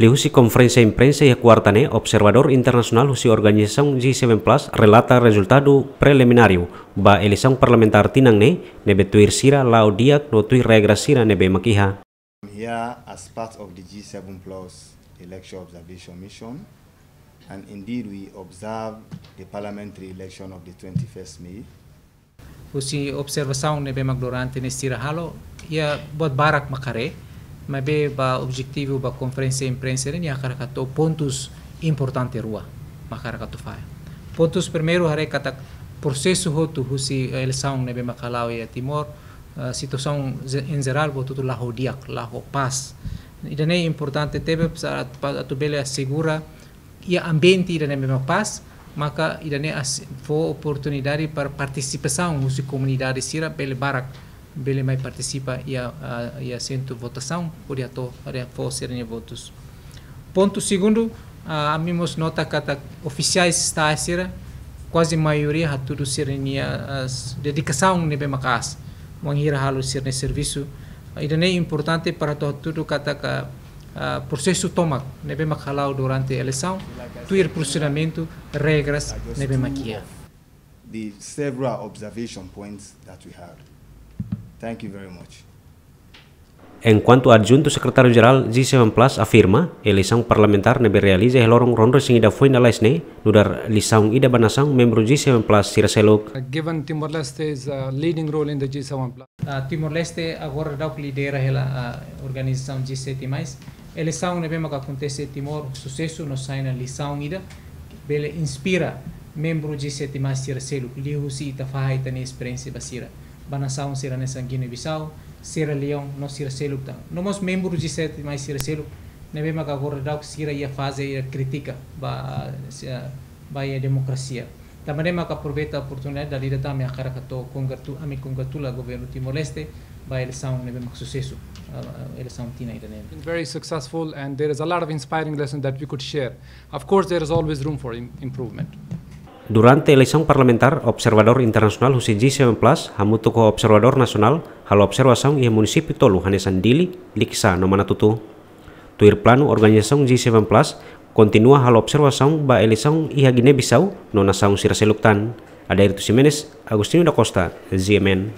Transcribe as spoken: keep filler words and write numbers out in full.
Liuhusi konferénsia imprensa iha kuarta ne'e, observadór internasionál husi organizasaun G seven Plus relata rezultadu prelimináriu ba eleisaun parlamentár tinan ne'e, ne'ebé tuir sira la'o di'ak no tuir regra sira ne'ebé mak iha. I'm here as part of the G seven Plus election observation mission, and indeed we observe the parliamentary election of the twenty-first May. Husi observasaun ne'ebé mak durante ne'e sira halo, iha buat barak mak haree, maibé ba objetivu ba konferénsia imprensa ne'e, nia hakarak atu pontus importante rua mak hakarak atu fahe. Pontus primeiru haree katak prosesu hotu husi eleisaun ne'ebé mak hala'o iha Timor, eh, situasaun ze-, em geral, buat hotu la'o di'ak, la'o pás. Ida-ne'e importante tebes para, para atu bele asegura iha ambiente ida ne'ebé mak pás, maka ida-ne'e as-, fó oportunidade para partisipasaun husi komunidade sira bele barak, bele mai partisipa iha, ah, iha sentru votasaun, hodi atu, hodi fó sira-nia votus. Pontu segundu, ah, ami mós nota katak ofisiais estadu sira, kuaze maioria hatudu sira-nia, ah, s-, dedikasaun ne'ebé maka'as, wainhira halo sira-nia servisu. Ida-ne'e importante para atu hatudu katak, ah, prosesu tomak ne'ebé mak hala'o durante eleisaun, tuir funsionamentu, regras ne'ebé mak iha. The several observation points that we had. Thank you very much. Enkuantu Adjuntu Sekretáriu Jerál G seven Plus afirma, eleisaun parlamentár ne'ebé realiza iha loron ruanulu-resin-ida foin lalais ne'e, nu'udar lisaun ida ba nasaun membru G seven Plus sira seluk. Uh, given Timor-Leste is a leading role in the G seven Plus. Ah, Timor-Leste agora daudauk lidera hela, ah, organizasaun G sete mais. Eleisaun ne'ebé maka akontese Timor susesu no sai ona lisaun ida bele inspira membru G sete mais sira seluk, liuhusi ita fahe ita-nia esperiénsia ba sira. Ba nasaun sira hanesan Guiné-Bissau, Sierra Leone, no sira seluk tan. No mós membru G sete mais sira seluk, ne'ebé maka agora daudauk sira iha faze iha kritika ba, ah, si-, ah, ba iha demokrasia. Tanba ne'e maka aproveita oportunidade dala ida tan ami hakarak atu kongratu-, ami kongratula governu Timor-Leste ba eleisaun ne'ebé mak susesu, ah, eleisaun tinan ida-ne'e. Been very successful and there is a lot of inspiring lessons that we could share. Of course, there is always room for im-, improvement. Durante eleisaun parlamentár, observadór internasionál husi G seven Plus, hamutuk ho observadór nasionál, halo observasaun iha munisípiu tolu hanesan Dili, Likisá no Manatutu. Tuir planu, organizasaun G seven Plus kontinua halo observasaun ba eleisaun iha Guiné-Bissau no nasaun sira seluk tan. Adérito Ximenes, Agostinho da Costa, G M N.